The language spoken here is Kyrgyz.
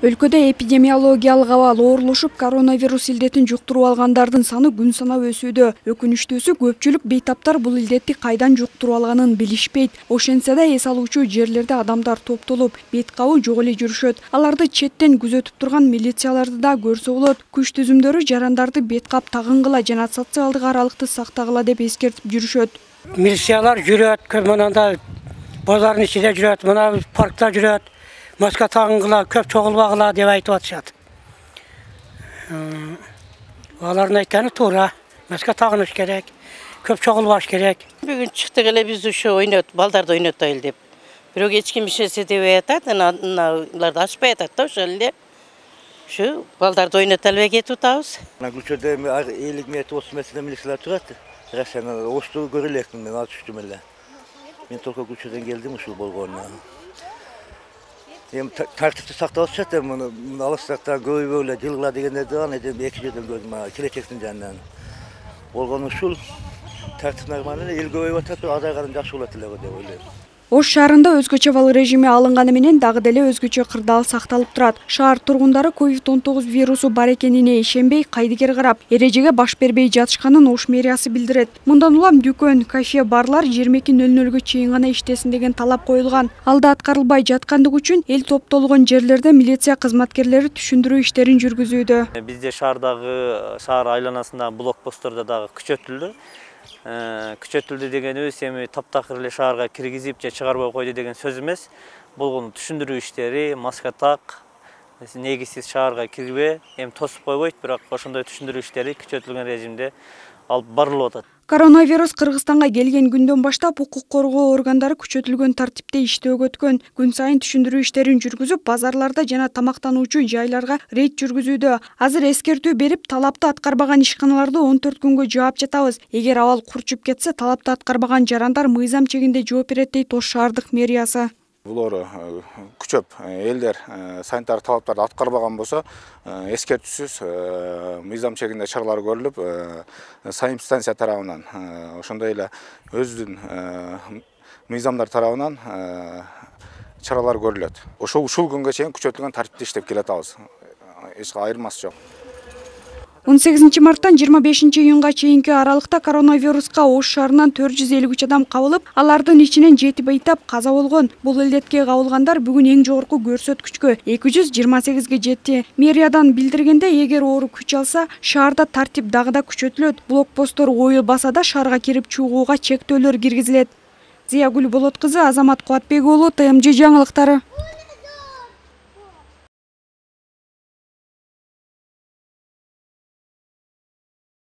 Өлкөдө эпидемиологиялык абал оорлошуп, коронавирус илдетин жуктуруп алгандардын саны күн санап өсүүдө. Өкүнүчтүүсү көпчүлүк бейтаптар бул илдетти кайдан жуктуруп алганын билишпейт. Ошентсе да эс алуучу жерлерде адамдар топтолуп, бет кабуу жок эле жүрүшөт. Аларды четтен күзөтүп турган милицияларды да көрсө болот. Күч түзүмдөрү жарандарды бет кап тагынгыла жана социалдык аралыкты сактагыла деп эскертип жүрүшөт. Милициялар жүрөт, мынанда базардын ичинде жүрөт, мына паркта жүрөт. Маска тагынгыла, көп чогулбагыла деп айтып атышат. Алардын айтканы туура. Маска тагыныш керек, көп чогулбаш керек. Бүгүн чыктык эле биз ушу ойнот, балдарды ойнотойлу деп. Бирок эч ким ишенсе дебей атат, аналарды ачпай атат да ошол эле. Ушу балдарды ойното албай кетип атабыз. Көчөдө 50 метр 30 метрде милициялар турат. Рашана ошту көрө электим, мен ал түштүм эле. Мен только көчөдөн келдим ушул болгону. Тартипти сактап атышат, алыстакта көбөйбөй эле жылгыла дегендерди аны эки жерден көрдүм, келечектин жанынан. Болгону ушул тартип нормально эле, эл көбөйүп атат, азайган жакшы болот эле деп ойлойм. Ош шаарында өзгөчө абал режими алынганы менен дагы деле өзгөчө кырдаал сакталып турат. Шаар тургундары COVID-19 вирусу бар экенине ишенбей, кайдыгер карап, эрежеге баш бербей жатышканын Ош мэриясы билдирет. Мындан улам дүкөн, кафе, барлар 22:00 чейин гана иштесин деген талап коюлган. Алда аткарылбай жаткандыгы үчүн эл топтолгон жерлерде милиция кызматкерлери түшүндүрүү иштерин жүргүзүүдө. Бизде шаардагы, шаар айланасындагы блокпосттордо дагы күчөтүлдү. Күчөтүлдү дегенибиз эми таптакыр эле шаарга киргизип же чыгарбай койду деген сөз эмес. Болгону түшүндүрүү иштери, маска так, негизсиз шаарга кирбе, эми тосуп койбойт, бирок ошондой түшүндүрүү иштери күчөтүлгөн режимде алып барылып атат. Коронавирус Кыргызстанга келген күндөн баштап укук коргоо органдары күчөтүлгөн тартипте иштөөгө өткөн. Күн сайын түшүндүрүү иштерин жүргүзүп, базарларда жана тамактануучу жайларга рейд жүргүзүүдө. Азыр эскертүү берип, талапты аткарбаган ишканаларды 14 күнгө жаап жатабыз. Эгер абал курчуп кетсе, талапты аткарбаган жарандар мыйзам чегинде жооп берет дейт Ош шаардык мэриясы. Булар күчөп элдер санитар талаптарды аткарбаган болсо, эскертүүсүз мыйзам чегинде чаралар көрүлүп, санэпидстанция тарабынан, ошондой эле өзүнүн мыйзамдар тарабынан чаралар көрүлөт. Ушул күнгө чейин күчөтүлгөн тартипте иштеп келатабыз. Эч айырмасы жок. 18 марттан 25 июнга чейинки аралыкта коронавируска Ош шаарынан 453 адам кабылып, алардын ичинен 7 бейтап каза болгон. Бул илдетке кабылгандар бүгүн эң жогорку көрсөткүчкө 228ге жетти. Мэриядан билдиргенде, эгер оору күч алса, шаарда тартип дагы да күчөтүлөт. Блокпосттор оюлбаса да шаарга кирип чыгууга чектөөлөр киргизилет. Зиягүл Болот кызы, Азамат Кубатбек уулу, ТМЖ жаңылыктары.